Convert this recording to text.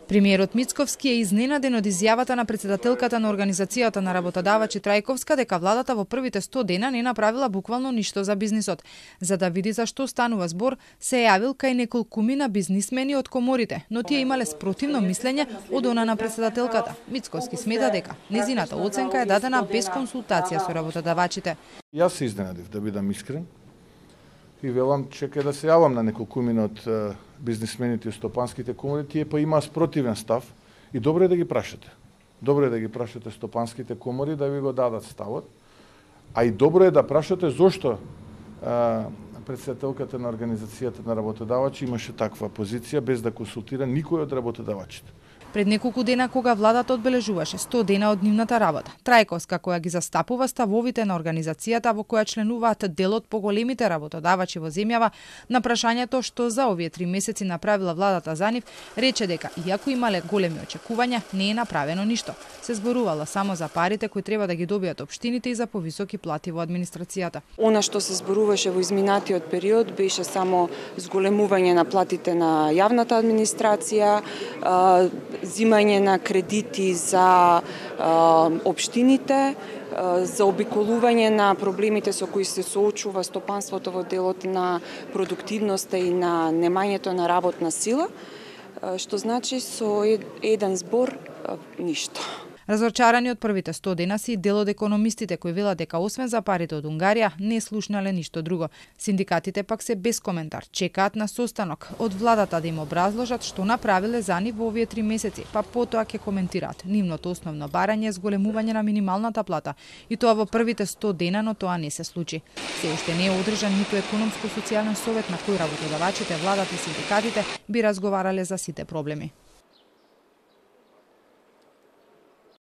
Премиерот Мицковски е изненаден од изјавата на претседателката на Организацијата на работодавачи Трајковска дека владата во првите 100 дена не направила буквално ништо за бизнисот. За да види за што станува збор, се јавил кај неколкумина бизнисмени од коморите, но тие имале спротивно мислење од она на претседателката. Мицковски смета дека незината оценка е дадена без консултација со работодавачите. Јас се изненадив, да бидам искрен. И велам, чекај да се јавам на неколкумина од бизнисмените и стопанските комори, тие па имаа спротивен став и добро е да ги прашате. Добро е да ги прашате стопанските комори да ви го дадат ставот, а и добро е да прашате зошто претседателката на Организацијата на работодавачи имаше таква позиција без да консултира никој од работодавачите. Пред неколку дена кога владата одбележуваше 100 дена од нивната работа, Трајковска која ги застапува ставовите на организацијата во која членуваат дел од поголемите работодавачи во земјава, на прашањето што за овие 3 месеци направила владата за нив, рече дека иако имале големи очекувања, не е направено ништо. Се зборувала само за парите кои треба да ги добијат општините и за повисоки плати во администрацијата. Она што се зборуваше во изминатиот период беше само зголемување на платите на јавната администрација, зимање на кредити за општините, за обиколување на проблемите со кои се соочува стопанството во делот на продуктивноста и на немањето на работна сила, што значи со еден збор ништо. Разочарани од првите 100 дена си дел од економистите кои велат дека освен за парите од Унгарија не слушнале ништо друго. Синдикатите пак се без коментар, чекаат на состанок од владата да им образложат што направиле за нив во овие 3 месеци, па потоа ќе коментираат нивното основно барање зголемување на минималната плата, и тоа во првите 100 дена, но тоа не се случи. Се уште не е одржан ниту економско-социјален совет на кој работодавачите, владата и синдикатите би разговарале за сите проблеми.